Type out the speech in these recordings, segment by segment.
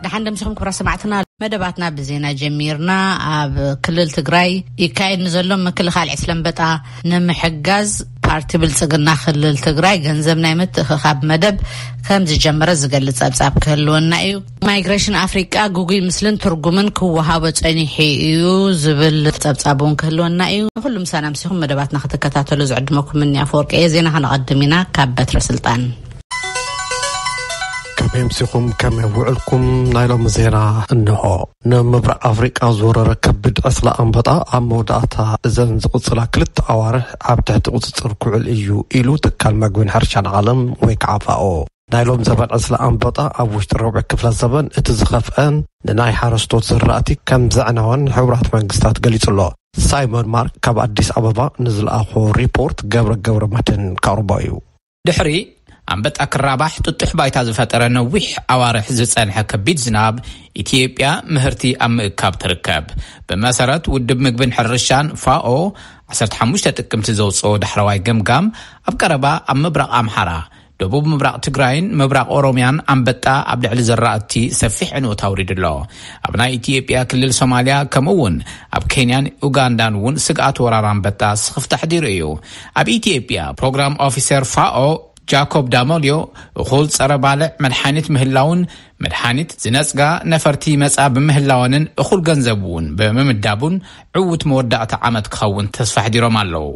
ደሓን ደምሲኹም ክብራ ሰማዕትና፣ መደባትና ብዜና ጀሚርና። ኣብ ክልል ትግራይ ይካየድ ንዘሎ ምክልኻል ዕስለ ኣንበጣ ንምሕጋዝ ፓርቲ ብልጽግና ክልል ትግራይ ገንዘብ ናይ ምትእኽኻብ መደብ ከም ዝጀመረ ዝገልጽ ጸብጻብ ክህልወና እዩ። ማይግሬሽን ኣፍሪቃ ግጉይ ምስልን ትርጉምን ክወሃቦ ጸኒሑ እዩ ዝብል ጸብጻብ እውን ክህልወና እዩ። ንኹሉ ምሳና ምሲኹም መደባትና ክትከታተሉ ዝዕድመኩም ምኒ ኣፈወርቂ እየ። ዜና ከነቐድም ኢና ካብ በትረ ስልጣን። ከመይ ኣምሲኹም፣ ከመይ ውዕልኩም? ናይ ሎሚ ዜና እንሆ። ንምብራቕ ኣፍሪቃ ዝወረረ ከቢድ ዕስለ ኣንበጣ ኣብ መወዳእታ እዘን ዝቕጽላ ክልተ ኣዋርሕ ኣብ ትሕቲ ቁጽጽር ክውዕል እዩ ኢሉ ትካል መግብን ሕርሻን ዓለም ወይ ከዓ ፋኦ። ናይ ሎም ዘበን ዕስለ ኣንበጣ ኣብ ውሽጢ ረብዒ ክፍለ ዘበን እቲ ዝኸፍአን ንናይ ሓረስቶት ዝራእቲ ከም ዘዕነወን ሕቡራት መንግስታት ገሊጹ ኣሎ። ሳይሞን ማርክ ካብ ኣዲስ ኣበባ ንዝለኣኾ ሪፖርት ገብረ ገብረ መድህን ከቕርቦ እዩ። ድሕሪ ኣንበጣ ክራባሕ ጥጡሕ ባይታ ዝፈጠረ ነዊሕ ኣዋርሕ ዝጸንሐ ከቢድ ዝናብ፣ ኢትዮጵያ ምህርቲ ኣብ ምእካብ ትርከብ። ብመሰረት ውድብ ምግብን ሕርሻን ፋኦ፣ ዓሰርተ ሓሙሽተ ጥቅምቲ ዘውፅኦ ዳሕረዋይ ገምጋም፣ ኣብ ቀረባ ኣብ ምብራቕ ኣምሓራ፣ ደቡብ ምብራቕ ትግራይን ምብራቕ ኦሮምያን ኣንበጣ ኣብ ልዕሊ ዘራእቲ ሰፊሕ ዕንወት ኣውሪዱ ኣሎ። ኣብ ናይ ኢትዮጵያ ክልል ሶማልያ፣ ከምኡ እውን ኣብ ኬንያን ኡጋንዳን እውን ስግኣት ወራር ኣንበጣ ስኽፍታ ኣሕዲሩ እዩ። ኣብ ኢትዮጵያ ፕሮግራም ኦፊሰር ፋኦ ጃኮብ ዳሞልዮ፣ እኹል ጸረ ባልዕ መድሓኒት ምህላውን መድሓኒት ዝነጽጋ ነፈርቲ ይመጻ ብምህላወንን እኹል ገንዘብ እውን ብምምዳቡን ዕዉት መወዳእታ ዓመት ክኸውን ተስፋ ኣሕዲሮም ኣለዉ።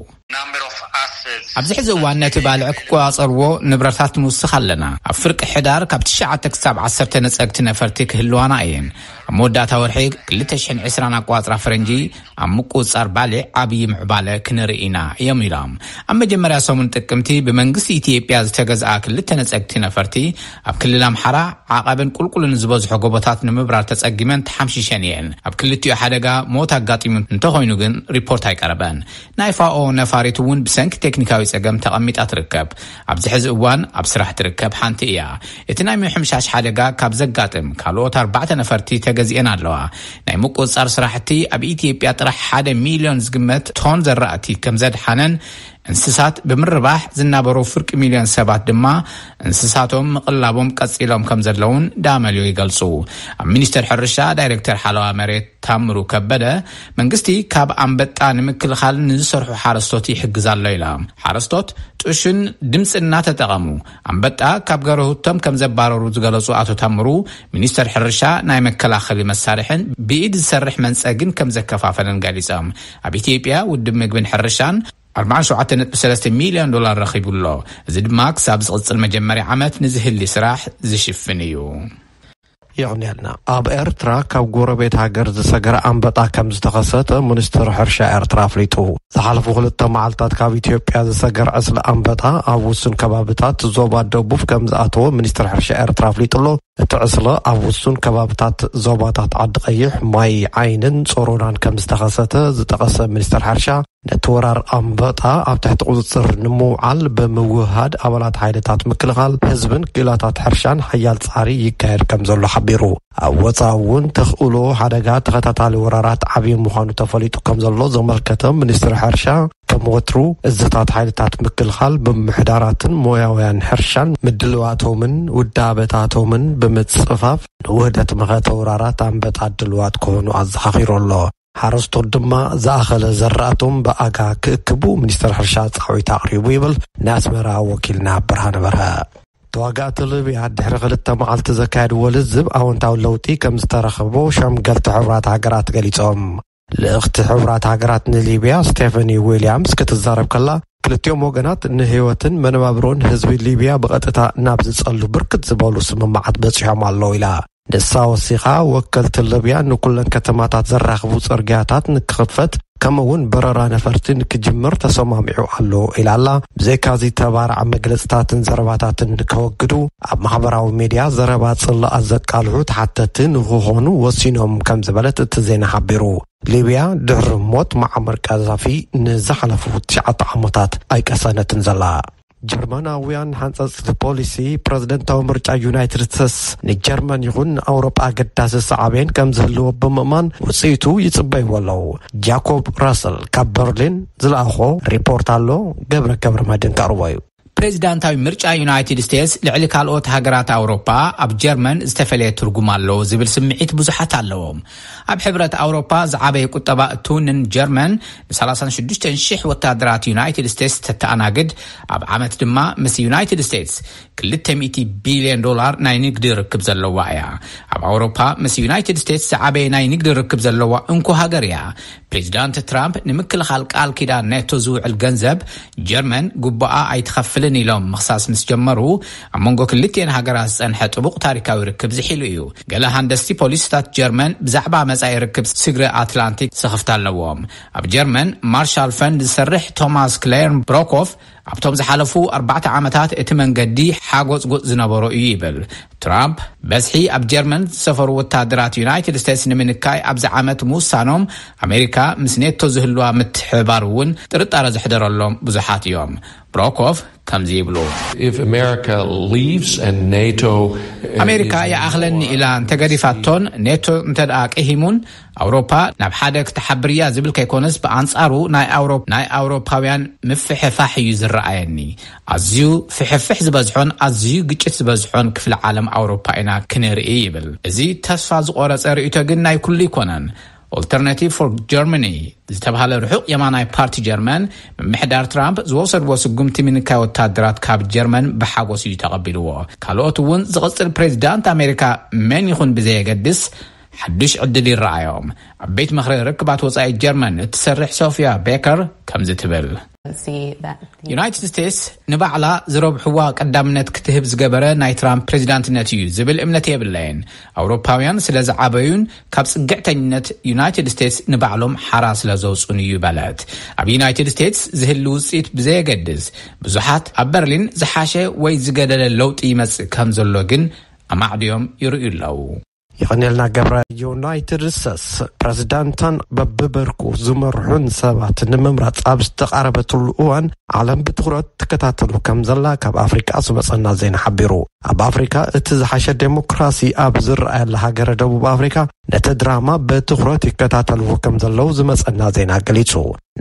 ኣብዚ ሕዚ እዋን ነቲ ባልዕ ክቆጻጸርዎ ንብረታት ንውስኽ ኣለና። ኣብ ፍርቂ ሕዳር ካብ ትሽዓተ ክሳብ ዓሰርተ ነጸግቲ ነፈርቲ ክህልዋና እየን። ኣብ መወዳእታ ወርሒ ክልተ ሽሕን ዕስራን ኣቆጻጽራ ፈረንጂ ኣብ ምቁጽጻር ባልዕ ዓብዪ ምዕባለ ክንርኢ ኢና እዮም ኢሎም። ኣብ መጀመርያ ሰሙን ጥቅምቲ ብመንግስቲ ኢትዮጵያ ዝተገዝኣ ክልተ ነጸግቲ ነፈርቲ ኣብ ክልል ኣምሓራ ዓቐብን ቁልቁልን ዝበዝሖ ጎቦታት ንምብራር ተጸጊመን ተሓምሺሸን እየን። ኣብ ክልቲኡ ሓደጋ ሞት ኣጋጢሙ እንተኾይኑ ግን ሪፖርት ኣይቀረበን። ናይ ፋኦ ነፋሪት እውን ብሰንኪ ቴክኒካዊ ጸገም ተቐሚጣ ትርከብ። ኣብዚ ሕዚ እዋን ኣብ ስራሕ ትርከብ ሓንቲ እያ። እቲ ናይ ምሕምሻሽ ሓደጋ ካብ ዘጋጥም ካልኦት ኣርባዕተ ነፈርቲ ተገዚአን ኣለዋ። ናይ ምቁጽጻር ስራሕቲ ኣብ ኢትዮጵያ ጥራሕ ሓደ ሚልዮን ዝግመት ቶን ዘራእቲ ከም ዘድሓነን እንስሳት ብምርባሕ ዝናበሩ ፍርቂ ሚልዮን ሰባት ድማ እንስሳቶም ምቕላቦም ቀጺሎም ከም ዘለውን ዳመልዮ ይገልጹ። ኣብ ሚኒስቴር ሕርሻ ዳይሬክተር ሓለዋ መሬት ታምሩ ከበደ፣ መንግስቲ ካብ ኣንበጣ ንምክልኻል ንዝሰርሑ ሓረስቶት ይሕግዝ ኣሎ ኢላ። ሓረስቶት ጥሹን ድምፂ እናተጠቐሙ ኣንበጣ ካብ ገረሁቶም ከም ዘባረሩ ዝገለጹ ኣቶ ታምሩ፣ ሚኒስቴር ሕርሻ ናይ መከላኸሊ መሳርሕን ብኢድ ዝሰርሕ መንፀግን ከም ዘከፋፈለን ገሊጾም። ኣብ ኢትዮጵያ ውድብ ምግብን ሕርሻን ኣርባዓን ሸውዓተ ነጥቢ ሰለስተ ሚልዮን ዶላር ረኺቡ ኣሎ። እዚ ድማ ክሳብ ዝቕጽል መጀመርያ ዓመት ንዝህሊ ስራሕ ዝሽፍን እዩ። የቕንየልና። ኣብ ኤርትራ ካብ ጎረቤት ሃገር ዝሰገረ ኣንበጣ ከም ዝተኸሰተ ሚኒስትር ሕርሻ ኤርትራ ኣፍሊጡ። ዝሓለፉ ክልተ መዓልታት ካብ ኢትዮጵያ ዝሰገር ዕስለ ኣንበጣ ኣብ ውሱን ከባብታት ዞባ ደቡብ ከም ዝኣተወ ሚኒስትር ሕርሻ ኤርትራ ኣፍሊጡ ኣሎ። እቲ ዕስለ ኣብ ውሱን ከባብታት ዞባታት ዓዲ ቀይሕ፣ ማይ ዓይንን ጾሮናን ከም ዝተኸሰተ ዝጠቐሰ ሚኒስትር ሕርሻ፣ ነቲ ወራር ኣንበጣ ኣብ ትሕቲ ቁጽጽር ንምውዓል ብምውህሃድ ኣባላት ሓይልታት ምክልኻል ህዝብን ክኢላታት ሕርሻን ሓያል ጻዕሪ ይካየድ ከም ዘሎ ሓቢሩ። ኣብ ወጻኢ እውን ተኽእሎ ሓደጋ ተኸታታሊ ወራራት ዓብዪ ምዃኑ ተፈሊጡ ከም ዘሎ ዘመልከተ ሚኒስትሪ ሕርሻ፣ ከም ወትሩ እዝታት ሓይልታት ምክልኻል ብምምሕዳራትን ሞያውያን ሕርሻን ምድልዋቶምን ውዳበታቶምን ብምጽፋፍ ንውህደት መኸተ ወራራት ኣንበጣ ድልዋት ክኾኑ ኣዘኻኺሩ ኣሎ። ሓረስቶት ድማ ዝኣኸለ ዘራእቶም ብኣጋ ክእክቡ ሚኒስተር ሕርሻ ጻዊት ኣቕሪቡ ይብል ናይ ኣስመራ ወኪልና ብርሃነ በርሀ። ተዋጋእቲ ሊብያ ድሕሪ ክልተ መዓልቲ ዘካየድዎ ልዝብ ኣወንታዊ ለውጢ ከም ዝተረኸቦ ሸምገልቲ ሕቡራት ሃገራት ገሊጾም። ልእኽቲ ሕቡራት ሃገራት ንሊብያ ስቴፈኒ ዊልያምስ ክትዛረብ ከላ፣ ክልቲኦም ወገናት ንህይወትን መነባብሮን ህዝቢ ሊብያ ብቐጥታ ናብ ዝጸሉ ብርክት ዝበሉ ስምምዓት በጺሖም ኣለዉ ኢላ። ንሳ ወሲኻ፣ ወከልቲ ሊብያ ንኩለን ከተማታት ዘራኽቡ ጽርግያታት ንክኽፈት፣ ከምኡ እውን በረራ ነፈርቲ ንክጅምር ተሰማሚዑ ኣሎ ኢላ ኣላ። ብዘይካዚ፣ ተባራዕ መግለጽታትን ዘረባታትን ንከወግዱ፣ ኣብ ማሕበራዊ ሚድያ ዘረባ ጽላኣት ዘቃልሑ ተሓተቲ ንክኾኑ ወሲኖም ከም ዝበለት እቲ ዜና ሓቢሩ። ሊብያ ድሕሪ ሞት መዓመር ቀዛፊ ንዝሓለፉ ትሽዓተ ዓመታት ኣይቀሰነትን ዘላ። ጀርመናውያን ሓንጸጽቲ ፖሊሲ ፕረዚደንታዊ ምርጫ ዩናይትድ ስቴትስ ንጀርመን ይኹን ንኣውሮጳ ኣገዳሲ ሳዕቤን ከም ዝህልዎ ብምእማን ውጽኢቱ ይጽበይዎ ኣለዉ። ጃኮብ ራሰል ካብ በርሊን ዝለኣኾ ሪፖርት ኣሎ፣ ገብረ ገብረ መድህን ከቕርቦ እዩ። ፕሬዚዳንታዊ ምርጫ ዩናይትድ ስቴትስ ልዕሊ ካልኦት ሃገራት ኣውሮፓ ኣብ ጀርመን ዝተፈለየ ትርጉም ኣለዎ ዝብል ስምዒት ብዙሓት ኣለዎም። ኣብ ሕብረት ኣውሮፓ ዝዓበየ ቁጠባ እትውንን ጀርመን ን36,000 ወታደራት ዩናይትድ ስቴትስ ተተኣናግድ፣ ኣብ ዓመት ድማ ምስ ዩናይትድ ስቴትስ ክልተ ሚእቲ ቢልዮን ዶላር ናይ ንግዲ ርክብ ዘለዋ እያ። ኣብ ኣውሮፓ ምስ ዩናይትድ ስቴትስ ዝዓበየ ናይ ንግዲ ርክብ ዘለዋ እንኮ ሃገር እያ። ፕሬዚዳንት ትራምፕ ንምክልኻል ቃል ኪዳን ኔቶ ዝውዕል ገንዘብ ጀርመን ጉባኣ ኣይትኸፍልን ኢሎም ምኽሳስ ምስ ጀመሩ፣ ኣብ መንጎ ክልቲኤን ሃገራት ዝጸንሐ ጥቡቕ ታሪካዊ ርክብ ዝሒሉ እዩ። ገለ ሃንደስቲ ፖሊሲታት ጀርመን ብዛዕባ መጻኢ ርክብ ስግረ ኣትላንቲክ ስኽፍታ ኣለዎም። ኣብ ጀርመን ማርሻል ፈንድ ዝሰርሕ ቶማስ ክሌርን ብሮኮፍ፣ ኣብቶም ዝሓለፉ ኣርባዕተ ዓመታት እቲ መንገዲ ሓጎጽጎጽ ዝነበሮ እዩ ይብል። ትራምፕ በዝሒ ኣብ ጀርመን ዝሰፈሩ ወታደራት ዩናይትድ ስቴትስ ንምንካይ ኣብዚ ዓመት ምውሳኖም፣ ኣሜሪካ ምስ ኔቶ ዝህልዋ ምትሕብባር እውን ጥርጣረ ዘሕደረሎም ብዙሓት እዮም። ብሮኮፍ ከምዚ ይብሉ። If America leaves and NATO ኣሜሪካ ይኣኽለኒ ኢላ እንተገዲፋቶን ኔቶ እንተ ደኣ ቅሂሙን፣ ኣውሮፓ ናብ ሓደ ክትሓብር እያ ዝብል ከይኮነስ፣ ብኣንጻሩ ናይ ኣውሮ- ናይ ኣውሮፓውያን ምፍሕፋሕ እዩ ዝረኣየኒ። ኣዝዩ ፍሕፍሕ ዝበዝሖን ኣዝዩ ግጭት ዝበዝሖን ክፍለ ዓለም ኣውሮፓ ኢና ክንርኢ ይብል። እዚ ተስፋ ዝቆረጸ ርእይቶ ግን ናይ ኩሉ ኣይኮነን። ኦልተርናቲቭ ፎር ጀርመኒ ዝተባህለ ርሑቕ የማናይ ፓርቲ ጀርመን፣ ምምሕዳር ትራምፕ ዝወሰድዎ ስጉምቲ ምንካይ ወታደራት ካብ ጀርመን ብሓጎስ እዩ ተቐቢልዎ። ካልኦት እውን ዝቕጽል ፕሬዚዳንት ኣሜሪካ መን ይኹን ብዘየገድስ ሓዱሽ ዕድል ይረኣዮም። ኣብ ቤት ምኽሪ ርክባት ወጻኢ ጀርመን እትሰርሕ ሶፊያ ቤከር ከምዚ ትብል። ዩናይትድ ስቴትስ ንባዕላ ዝረብሕዋ ቀዳምነት ክትህብ ዝገበረ ናይ ትራምፕ ፕሬዚዳንትነት እዩ ዝብል እምነት የብለይን። ኣውሮፓውያን ስለ ዝዓበዩን ካብ ጽግዕተኝነት ዩናይትድ ስቴትስ ንባዕሎም ሓራ ስለ ዘውጹን እዩ በለት። ኣብ ዩናይትድ ስቴትስ ዝህሉ ውጽኢት ብዘየገድስ፣ ብዙሓት ኣብ በርሊን ዝሓሸ ወይ ዝገደለ ለውጢ ይመጽእ ከም ዘሎ ግን ኣማዕድዮም ይርእዩ ኣለዉ። የቐንየልና ገብረ። ዩናይትድ ስቴትስ ፕሬዚዳንታን በብብርኩ ዝመርሑን ሰባት ንምምራጽ ኣብ ዝተቓረበትሉ እዋን፣ ዓለም ብትኹረት ትከታተሉ ከም ዘላ ካብ ኣፍሪቃ ዝመጸና ዜና ሓቢሩ። ኣብ ኣፍሪካ እቲ ዝሓሸ ዴሞክራሲ ኣብ ዝረኣየላ ሃገረ ደቡብ ኣፍሪካ፣ ነቲ ድራማ ብትኹረት ይከታተልዎ ከም ዘለዉ ዝመጸና ዜና ገሊጹ።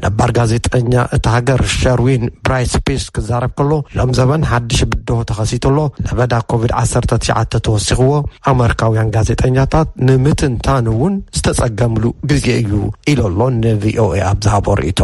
ነባር ጋዜጠኛ እታ ሃገር ሸርዊን ብራይስ ፒስ ክዛረብ ከሎ፣ ሎም ዘበን ሓድሽ ብድሆ ተኸሲቱ ኣሎ። ለበዳ ኮቪድ ዓሰርተ ትሽዓተ ተወሲኽዎ፣ ኣመሪካውያን ጋዜጠኛታት ንምትንታን እውን ዝተጸገምሉ ግዜ እዩ ኢሉ ኣሎ ንቪኦኤ ኣብ ዝሃቦ ርእይቶ።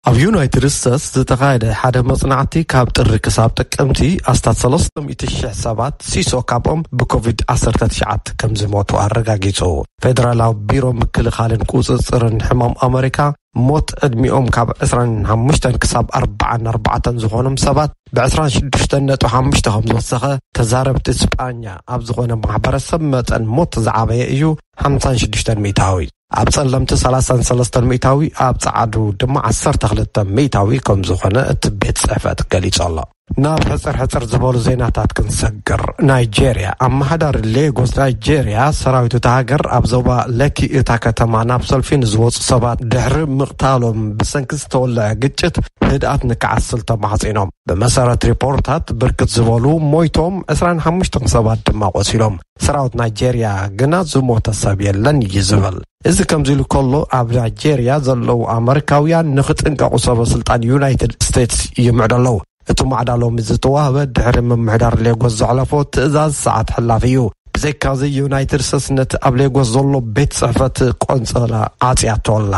ኣብ ዩናይትድ ስቴትስ ዝተኻየደ ሓደ መጽናዕቲ፣ ካብ ጥሪ ክሳብ ጥቅምቲ ኣስታት ሰለስተ ሚእቲ ሽሕ ሰባት፣ ሲሶ ካብኦም ብኮቪድ ዓሰርተ ትሽዓተ ከም ዝሞቱ ኣረጋጊጹ። ፌደራላዊ ቢሮ ምክልኻልን ቁጽጽርን ሕማም ኣመሪካ፣ ሞት ዕድሚኦም ካብ ዕስራን ሓሙሽተን ክሳብ ኣርባዓን ኣርባዕተን ዝኾኖም ሰባት ብዕስራን ሽዱሽተን ነጥቢ ሓሙሽተ ከም ዝወሰኸ፣ ተዛረብቲ ስጳኛ ኣብ ዝኾነ ማሕበረሰብ መጠን ሞት ዝዓበየ እዩ፣ ሓምሳን ሽዱሽተን ሚእታዊ። ኣብ ጸለምቲ ሰላሳን ሰለስተን ሚእታዊ፣ ኣብ ጸዓዱ ድማ ዓሰርተ ክልተ ሚእታዊ ከም ዝኾነ እቲ ቤት ጽሕፈት ገሊጹ ኣሎ። ናብ ሕጽር ሕጽር ዝበሉ ዜናታት ክንሰግር። ናይጄርያ። ኣመሓዳሪ ሌጎስ ናይጄርያ፣ ሰራዊት እታ ሃገር ኣብ ዞባ ለኪ እታ ከተማ ናብ ሰልፊ ንዝወጹ ሰባት ድሕሪ ምቕታሎም ብሰንኪ ዝተወልዐ ግጭት ህድኣት ንክዓስል ተማሕጺኖም። ብመሰረት ሪፖርታት፣ ብርክት ዝበሉ ሞይቶም፣ ዕስራን ሓሙሽተን ሰባት ድማ ቆሲሎም። ሰራዊት ናይጄርያ ግና ዝሞተ ሰብ የለን እዩ ዝብል። እዚ ከምዚ ኢሉ ከሎ፣ ኣብ ናይጄርያ ዘለዉ ኣመሪካውያን ንኽጥንቀቑ ሰበ ስልጣን ዩናይትድ ስቴትስ ይምዕዱ ኣለዉ። እቲ ማዕዳ ሎሚ ዝተዋህበ ድሕሪ ምምሕዳር ሌጎስ ዘዕለፎ ትእዛዝ ሰዓት ሕላፍ እዩ። ብዘይካዚ፣ ዩናይትድ ስቴትስ ነቲ ኣብ ሌጎስ ዘሎ ቤት ጽሕፈት ቆንጽላ ዓጽያቶ ኣላ።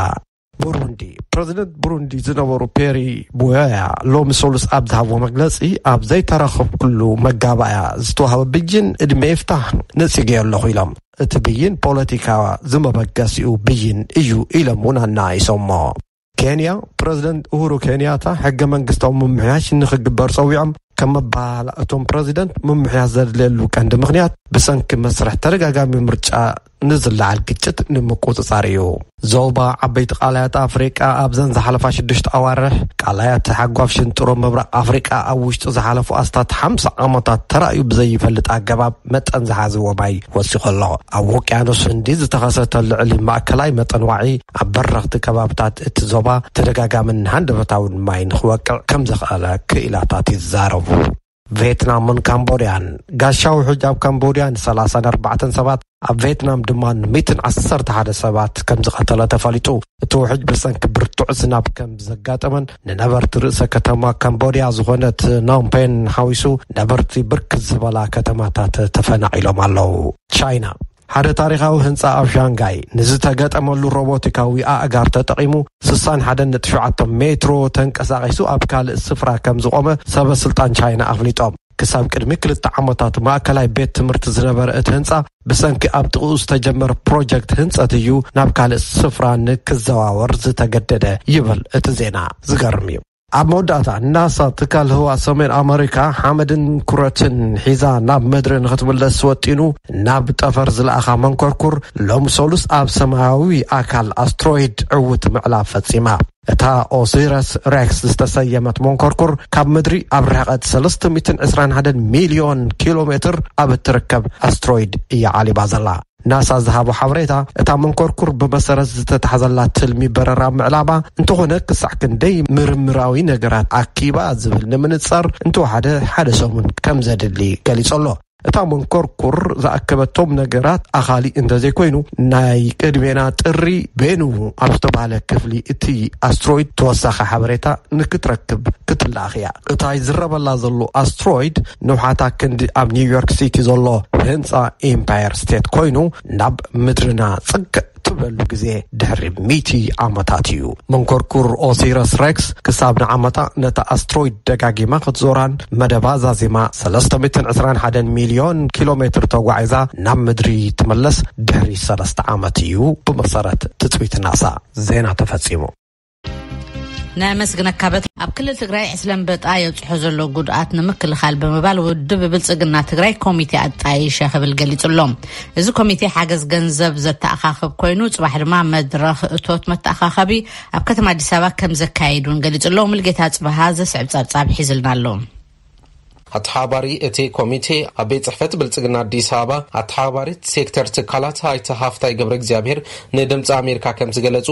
ቡሩንዲ። ፕረዚደንት ቡሩንዲ ዝነበሩ ፔሪ ቡዮያ ሎሚ ሰሉስ ኣብ ዝሃብዎ መግለጺ፣ ኣብ ዘይተራኸብኩሉ መጋባእያ ዝተዋህበ ብይን ዕድመ ይፍታሕ ነጺገዮ ኣለኹ ኢሎም። እቲ ብይን ፖለቲካ ዝመበገሲኡ ብይን እዩ ኢሎም እውን ኣናኢሶሞ። ኬንያ። ፕረዚደንት ኡሁሩ ኬንያታ ሕገ መንግስታዊ ምምሕያሽ ንኽግበር ጸዊዖም። ከም መባህላ እቶም ፕረዚደንት፣ ምምሕያሽ ዘድልየሉ ቀንዲ ምኽንያት ብሰንኪ መስርሕ ተደጋጋሚ ምርጫ ንዝለዓል ግጭት ንምቁጽጻር እዩ። ዞባ ዓበይቲ ቃላያት ኣፍሪቃ ኣብዘን ዝሓለፋ ሽዱሽተ ኣዋርሕ፣ ቃላያት ሓጓፍ ሽንጥሮ ምብራቕ ኣፍሪቃ ኣብ ውሽጢ ዝሓለፉ ኣስታት ሓምሳ ዓመታት ተራእዩ ብዘይፈልጥ ኣገባብ መጠን ዝሓዝዎ ማይ ወሲኹ ኣሎ። ኣብ ውቅያኖስ ህንዲ ዝተኸሰተ ልዕሊ ማእከላይ መጠን ዋዒ ኣብ በረኽቲ ከባብታት እቲ ዞባ ተደጋጋምን ሃንደበታውን ማይ ንኽወቅዕ ከም ዘኽኣለ ክኢላታት ይዛረቡ። ቬትናምን ካምቦድያን። ጋሻ ውሕጅ ኣብ ካምቦድያ ን34 ሰባት፣ ኣብ ቬትናም ድማ ን111 ሰባት ከም ዝቐተለ ተፈሊጡ። እቲ ውሕጅ ብሰንኪ ብርቱዕ ዝናብ ከም ዘጋጠመን ንነበርቲ ርእሰ ከተማ ካምቦድያ ዝኾነት ኖምፔን ሓዊሱ ነበርቲ ብርክት ዝበላ ከተማታት ተፈናቒሎም ኣለዉ። ቻይና። ሓደ ታሪኻዊ ህንጻ ኣብ ሻንጋይ ንዝተገጠመሉ ሮቦቲካዊ ኣእጋር ተጠቒሙ 61.7 ሜትሮ ተንቀሳቒሱ ኣብ ካልእ ስፍራ ከም ዝቖመ ሰበ ስልጣን ቻይና ኣፍሊጦም። ክሳብ ቅድሚ ክልተ ዓመታት ማእከላይ ቤት ትምህርቲ ዝነበረ እቲ ህንጻ ብሰንኪ ኣብ ጥቕኡ ዝተጀመረ ፕሮጀክት ህንጸት እዩ ናብ ካልእ ስፍራ ንክዘዋወር ዝተገደደ ይብል እቲ ዜና። ዝገርም እዩ። ኣብ መወዳእታ ናሳ ትካል ህዋ ሰሜን ኣመሪካ ሓመድን ኩረትን ሒዛ ናብ ምድሪ ንክትምለስ ወጢኑ ናብ ጠፈር ዝለኣኻ መንኮርኩር ሎም ሰሉስ ኣብ ሰማያዊ ኣካል ኣስትሮይድ ዕውት ምዕላብ ፈጺማ። እታ ኦሲረስ ሬክስ ዝተሰየመት መንኮርኩር ካብ ምድሪ ኣብ ርሕቀት 321 ሚልዮን ኪሎ ሜትር ኣብ እትርከብ ኣስትሮይድ እያ ዓሊባ ዘላ። ናሳ ዝሃቦ ሓበሬታ፣ እታ መንኮርኩር ብመሰረት ዝተታሕዘላ ትልሚ በረራ ምዕላባ፣ እንተኾነ ክሳዕ ክንደይ ምርምራዊ ነገራት ኣኪባ ዝብል ንምንጻር እንተወሓደ ሓደ ሰሙን ከም ዘድሊ ገሊጹ ኣሎ። እታ መንኮርኩር ዝኣከበቶም ነገራት ኣኻሊ እንተዘይኮይኑ፣ ናይ ቅድሜና ጥሪ ቤኑ ኣብ ዝተባህለ ክፍሊ እቲ ኣስትሮይድ ተወሳኺ ሓበሬታ ንክትረክብ ክትለኣኽ እያ። እታ ይዝረበላ ዘሎ ኣስትሮይድ ንውሓታ ክንዲ ኣብ ኒውዮርክ ሲቲ ዘሎ ህንጻ ኢምፓየር ስቴት ኮይኑ፣ ናብ ምድርና ጽግዕ ትብለሉ ግዜ ድሕሪ ሚእቲ ዓመታት እዩ። መንኮርኩር ኦሲረስ ሬክስ ክሳብ ንዓመታ ነታ ኣስትሮይድ ደጋጊማ ክትዞራን መደባ ዛዚማ 321 ሚልዮን ኪሎ ሜትር ተጓዒዛ ናብ ምድሪ ትመለስ ድሕሪ ሰለስተ ዓመት እዩ፣ ብመሰረት ትጽቢት ናሳ። ዜና ተፈጺሙ። ነመስግነካ። በት ኣብ ክልል ትግራይ ዕስለ ኣንበጣ የብፅሖ ዘሎ ጉድኣት ንምክልኻል ብምባል ውድብ ብልፅግና ትግራይ ኮሚቴ ኣጣይሸ ክብል ገሊፁ ኣሎ። እዚ ኮሚቴ ሓገዝ ገንዘብ ዘተኣኻኽብ ኮይኑ፣ ፅባሕ ድማ መድረኽ እቶት መተኣኻኸቢ ኣብ ከተማ ኣዲስ ኣበባ ከም ዘካየድ እውን ገሊፁ ኣሎ። ሙልጌታ ፅባሃ ዘስዕብ ፀብፃብ ሒዝልና ኣሎ። ኣተሓባሪ እቲ ኮሚቴ ኣብ ቤት ጽሕፈት ብልጽግና ኣዲስ ኣበባ ኣተሓባሪት ሴክተር ትካላት ኣይተ ሃፍታይ ገብረ እግዚኣብሔር ንድምፂ ኣሜሪካ ከም ዝገለጹ፣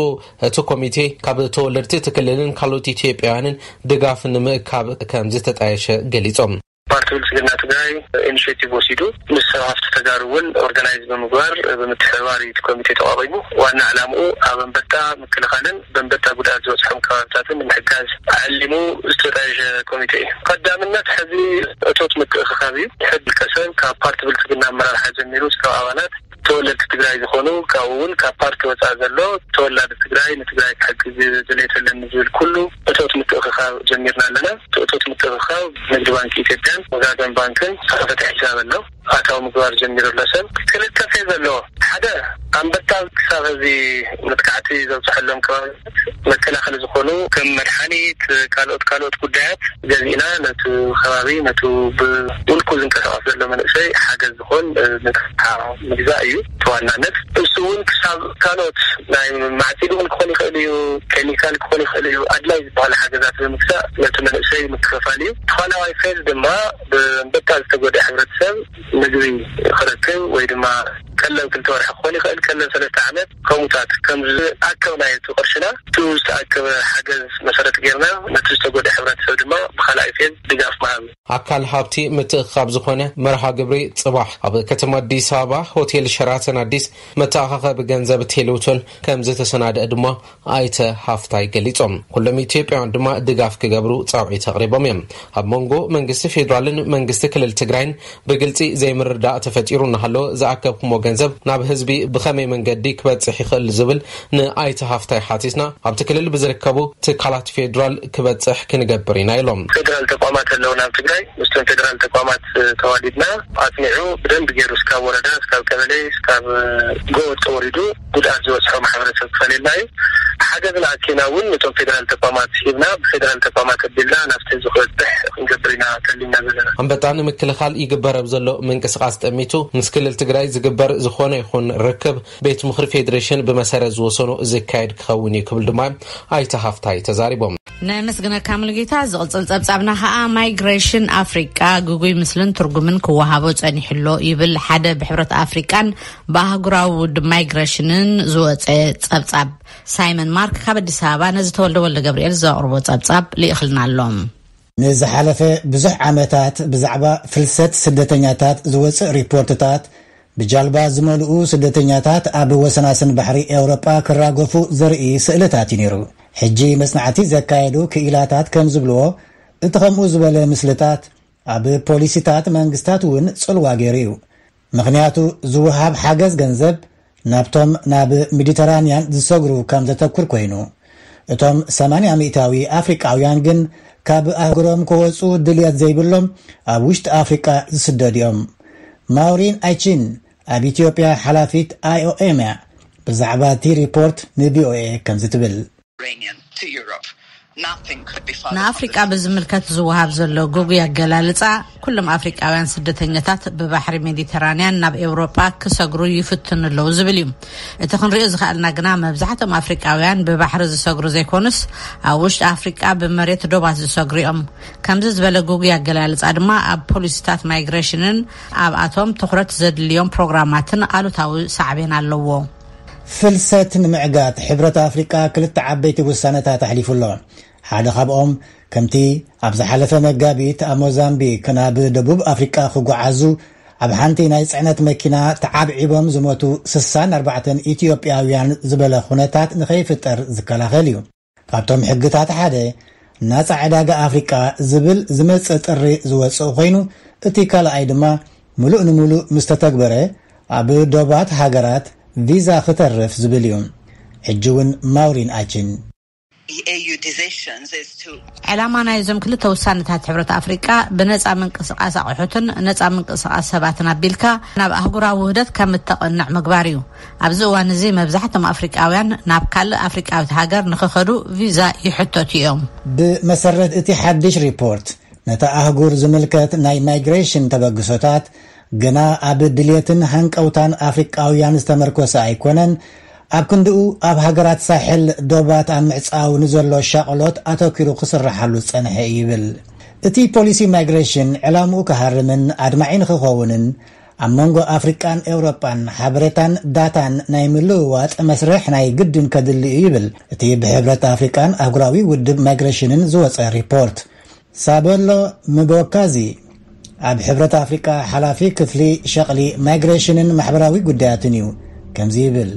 እቲ ኮሚቴ ካብ ተወለድቲ እቲ ክልልን ካልኦት ኢትዮጵያውያንን ድጋፍ ንምእካብ ከም ዝተጣየሸ ገሊጾም። ፓርቲ ብልጽግና ትግራይ ኢኒሽቲቭ ወሲዱ ምስ ሰብ ሃፍቲ ተጋሩ እውን ኦርጋናይዝ ብምግባር ብምትሕብባር እዩ እቲ ኮሚቴ ተቋቒሙ። ዋና ዕላምኡ ኣብ ኣንበጣ ምክልኻልን በንበጣ ጉድኣት ዝበፅሖም ከባብታትን ንምሕጋዝ ዓሊሙ ዝተጣየሸ ኮሚቴ እዩ። ቀዳምነት ሕዚ እቶት ምትእኽኻብ እዩ። ሕድ ውልቀሰብ ካብ ፓርቲ ብልፅግና ኣመራርሓ ጀሚሩ እስካብ ኣባላት ተወለድቲ ትግራይ ዝኾኑ፣ ካብኡ እውን ካብ ፓርቲ ወፃኢ ዘሎ ተወላዲ ትግራይ ንትግራይ ክሕግዝ ድሌት ኣለኒ ዝብል ኩሉ እቶት ምትእኽኻብ ጀሚርና ኣለና። እቲ እቶት ምትእኽኻብ ንግዲ ባንክ ኢትዮጵያን ወጋገን ባንክን ዝተኸፈተ ሒሳብ ኣሎ። ኣታዊ ምግባር ጀሚሩ ኣሎ። ሰብ ክልተ ፌዝ ኣለዎ። ሓደ ኣንበጣ ክሳብ እዚ መጥቃዕቲ ዘብፅሐሎም ከባቢ መከላኸሊ ዝኾኑ ከም መድሓኒት፣ ካልኦት ካልኦት ጉዳያት ገዚእና ነቲ ከባቢ ነቲ ብውልቁ ዝንቀሳቐስ ዘሎ መንእሰይ ሓገዝ ዝኾን ንታ ምግዛእ እዩ ተዋናነት። እሱ እውን ክሳብ ካልኦት ናይ ማዕፂድ እውን ክኾን ይኽእል እዩ፣ ኬሚካል ክኾን ይኽእል እዩ። ኣድላይ ዝበሃሉ ሓገዛት ብምግዛእ ነቲ መንእሰይ ምክፍፋል እዩ። ተኻላዋይ ፌዝ ድማ ብኣንበጣ ዝተጎድአ ሕብረተሰብ ምግቢ ክረክብ ወይ ድማ ቀለብ ክልተ ወርሒ ክኾን ይኽእል፣ ቀለብ ሰለስተ ዓመት ከምኡታት ከም ዝኣከብናዮ እቲ ቅርሽና፣ እቲ ዝተኣከበ ሓገዝ መሰረት ጌርና ነቲ ዝተጎድአ ሕብረተሰብ ድማ ብኻልኣይ ፌዝ ድጋፍ ምሃብ። ኣካል ሃብቲ ምትእኽኻብ ዝኾነ መርሃ ግብሪ ጽባሕ ኣብ ከተማ ኣዲስ ኣበባ ሆቴል ሸራተን ኣዲስ መተኣኻኸቢ ገንዘብ ቴሌውቶን ከም ዝተሰናደአ ድማ ኣይተ ሃፍታይ ገሊጾም። ኩሎም ኢትዮጵያውያን ድማ ድጋፍ ክገብሩ ጻውዒት ኣቕሪቦም እዮም። ኣብ መንጎ መንግስቲ ፌዴራልን መንግስቲ ክልል ትግራይን ብግልጺ ዘይምርዳእ ተፈጢሩ እናሃለወ፣ ዝኣከብኩሞ ገንዘብ ናብ ህዝቢ ብኸመይ መንገዲ ክበጽሕ ይኽእል ዝብል ንኣይተ ሃፍታይ ሓቲትና፣ ኣብቲ ክልል ብዝርከቡ ትካላት ፌዴራል ክበጽሕ ክንገብር ኢና ኢሎም። ፌዴራል ተቋማት ኣለውና ኣብ ትግራይ፣ ምስቶም ፌዴራል ተቋማት ተዋዲድና ኣጽኒዑ ብደንብ ገይሩ እስካብ ወረዳ፣ እስካብ ቀበሌ፣ እስካብ ጎጥ ወሪዱ ጉድኣት ዝበፅሖ ማሕበረሰብ ክፈልየልና እዩ። ሓገዝና ኣኪና እውን ነቶም ፌደራል ተቋማት ሂብና ብፌደራል ተቋማት ኣቢልና ናብቲ ዝኽእል ጥሕ ክንገብር ኢና ተሊና ዘለና። ኣንበጣ ንምክልኻል ይግበር ኣብ ዘሎ ምንቅስቓስ ጠሚቱ ምስ ክልል ትግራይ ዝግበር ዝኾነ ይኹን ርክብ ቤት ምኽሪ ፌዴሬሽን ብመሰረት ዝወሰኖ ዝካየድ ክኸውን እዩ ክብል ድማ ኣይተ ሃፍታይ ተዛሪቦም። ነመስግነካ ሙሉጌታ። ዝቕጽል ጸብጻብና ኸኣ ማይግሬሽን ኣፍሪቃ ግጉይ ምስልን ትርጉምን ክወሃቦ ጸኒሕሎ ይብል ሓደ ብሕብረት ኣፍሪቃን ብኣህጉራዊ ውድብ ማይግሬሽንን ዝወጸ ጸብጻብ። ሳይመን ማርክ ካብ ኣዲስ ኣበባ ነዚ ተወልደ ወልደ ገብርኤል ዘቕርቦ ጸብጻብ ልኢኽልና ኣሎ። ንዝሓለፈ ብዙሕ ዓመታት ብዛዕባ ፍልሰት ስደተኛታት ዝወፅእ ሪፖርትታት፣ ብጃልባ ዝመልኡ ስደተኛታት ኣብ ወሰናስን ባሕሪ ኤውሮጳ ክራገፉ ዘርኢ ስእልታት እዩ ነይሩ። ሕጂ መጽናዕቲ ዘካየዱ ክኢላታት ከም ዝብልዎ፣ እቲ ከምኡ ዝበለ ምስልታት ኣብ ፖሊሲታት መንግስታት እውን ጽልዋ ገይሩ እዩ። ምኽንያቱ፣ ዝወሃብ ሓገዝ ገንዘብ ናብቶም ናብ ሜዲተራንያን ዝሰግሩ ከም ዘተኩር ኮይኑ፣ እቶም ሰማንያ ሚእታዊ ኣፍሪቃውያን ግን ካብ ኣህጉሮም ክወጹ ድልየት ዘይብሎም ኣብ ውሽጢ ኣፍሪቃ ዝስደዱ እዮም። ማውሪን ኣይቺን ኣብ ኢትዮጵያ ሓላፊት ኣይኦኤም እያ። ብዛዕባ እቲ ሪፖርት ንቪኦኤ ከምዚ ትብል። ንኣፍሪቃ ብዝምልከት ዝወሃብ ዘሎ ግጉይ ኣገላልጻ፣ ኩሎም ኣፍሪቃውያን ስደተኛታት ብባሕሪ ሜዲተራንያን ናብ ኤውሮጳ ክሰግሩ ይፍትኑ ኣለዉ ዝብል እዩ። እቲ ክንሪኦ ዝኸኣልና ግና፣ መብዛሕትኦም ኣፍሪቃውያን ብባሕሪ ዝሰግሩ ዘይኮኑስ፣ ኣብ ውሽጢ ኣፍሪቃ ብመሬት ዶባት ዝሰግሩ እዮም። ከምዚ ዝበለ ግጉይ ኣገላልጻ ድማ ኣብ ፖሊሲታት ማይግሬሽንን ኣብኣቶም ትኹረት ዘድልዮም ፕሮግራማትን ኣሉታዊ ሳዕቤን ኣለዎ። ፍልሰት ንምዕጋት ሕብረት ኣፍሪቃ ክልተ ዓበይቲ ውሳነታት ኣሕሊፉ ኣሎ። ሓደ ካብኦም፣ ከምቲ ኣብ ዝሓለፈ መጋቢት ኣብ ሞዛምቢክ ናብ ደቡብ ኣፍሪቃ ክጓዓዙ ኣብ ሓንቲ ናይ ጽዕነት መኪና ተዓብዒቦም ዝሞቱ ስሳን ኣርባዕተን ኢትዮጵያውያን ዝበለ ኩነታት ንኸይፍጠር ዝከላኸል እዩ። ካብቶም ሕግታት ሓደ፣ ናጻ ዕዳጋ ኣፍሪቃ ዝብል ዝመጽእ ጥሪ ዝወጽእ ኮይኑ፣ እቲ ካልኣይ ድማ፣ ምሉእ ንምሉእ ምስ ተተግበረ፣ ኣብ ዶባት ሃገራት ቪዛ ክተርፍ ዝብል እዩ። ሕጂ እውን ማውሪን ኣችን። The A U decisions is to ዕላማ ናይዞም ክልተ ውሳነታት ሕብረት ኣፍሪቃ፣ ብነጻ ምንቅስቃስ ኣቑሑትን ነጻ ምንቅስቃስ ሰባትን ኣቢልካ ናብ ኣህጉራዊ ውህደት ከም እተቐንዕ ምግባር እዩ። ኣብዚ እዋን እዚ መብዛሕቶም ኣፍሪቃውያን ናብ ካልእ ኣፍሪቃዊት ሃገር ንኽኸዱ ቪዛ ይሕተቱ እዮም። ብመሰረት እቲ ሓድሽ ሪፖርት፣ ነታ ኣህጉር ዝምልከት ናይ ማይግሬሽን ተበግሶታት ግና ኣብ ድልየትን ሃንቀውታን ኣፍሪቃውያን ዝተመርኮሰ ኣይኮነን። ኣብ ክንድኡ፣ ኣብ ሃገራት ሳሕል ዶባት ኣብ ምዕጻው ንዘሎ ሻቕሎት ኣተኪሩ ክስርሓሉ ዝጸንሐ እዩ ይብል። እቲ ፖሊሲ ማይግሬሽን ዕላምኡ ክሃርምን ኣድማዒ ንኽኸውንን፣ ኣብ መንጎ ኣፍሪቃን ኤውሮጳን ሓበሬታን ዳታን ናይ ምልውዋጥ መስርሕ ናይ ግድን ከድሊ እዩ ይብል እቲ ብሕብረት ኣፍሪቃን ኣህጉራዊ ውድብ ማይግሬሽንን ዝወጸ ሪፖርት። ሳበሎ ምቦካዚ፣ ኣብ ሕብረት ኣፍሪቃ ሓላፊ ክፍሊ ሸቕሊ ማይግሬሽንን ማሕበራዊ ጉዳያትን እዩ። ከምዚ ይብል።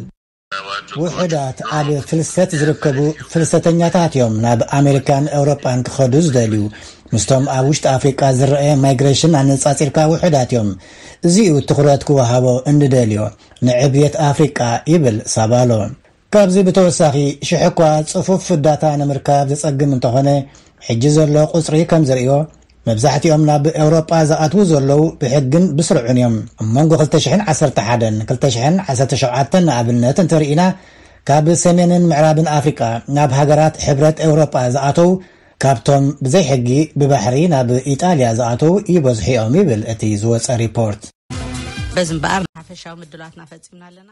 ውሑዳት ኣብ ፍልሰት ዝርከቡ ፍልሰተኛታት እዮም ናብ ኣሜሪካን ኤውሮጳን ክኸዱ ዝደልዩ። ምስቶም ኣብ ውሽጢ ኣፍሪቃ ዝረአ ማይግሬሽን ኣነጻጺርካ ውሑዳት እዮም። እዚ እዩ ትኹረት ክወሃቦ እንድደልዮ ንዕብየት ኣፍሪቃ፣ ይብል ሳባሎ። ካብዚ ብተወሳኺ፣ ሽሕ እኳ ጽፉፍ ዳታ ንምርካብ ዘጸግም እንተኾነ፣ ሕጂ ዘሎ ቁጽሪ ከም ዘርእዮ፣ መብዛሕትኦም ናብ ኤውሮጳ ዝኣትዉ ዘለዉ ብሕግን ብስርዑን እዮም። ኣብ መንጎ ክልተ ሽሕን ዓሰርተ ሓደን ክልተ ሽሕን ዓሰርተ ሸውዓተን ንኣብነት እንተርኢና፣ ካብ ሰሜንን ምዕራብን ኣፍሪቃ ናብ ሃገራት ሕብረት ኤውሮጳ ዝኣተዉ፣ ካብቶም ብዘይ ሕጊ ብባሕሪ ናብ ኢጣልያ ዝኣተዉ ይበዝሑ እዮም ይብል እቲ ዝወጸ ሪፖርት። በዚ እምበኣር፣ ሓፈሻዊ ምድላዋትና ፈጺምና ኣለና።